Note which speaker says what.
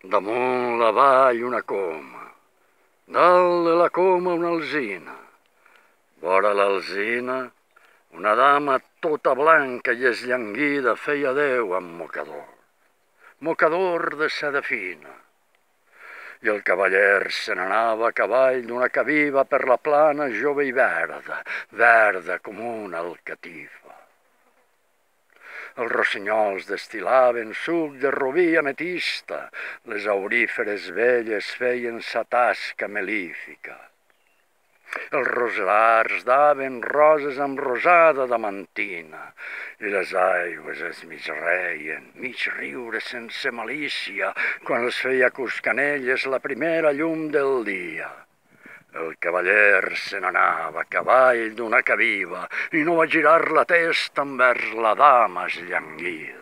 Speaker 1: Damunt la vall una coma, dalt de la coma una alzina, vora l'alzina una dama tota blanca i esllanguida feia adeu amb mocador de seda fina. I el cavaller se n'anava a cavall d'una caviva per la plana jove i verda com una alcatifa. Els rossinyols destil·laven suc de robí ametista, les auríferes velles feien sa tasca melífica. Els roselars daven roses amb rosada damantina i les aigües es mig reien, mig riure sense malícia, quan els feia cuscanelles la primera llum del dia. El cavaller se n'anava a cavall d'una caviva i no va girar la testa envers la dama esllanguida.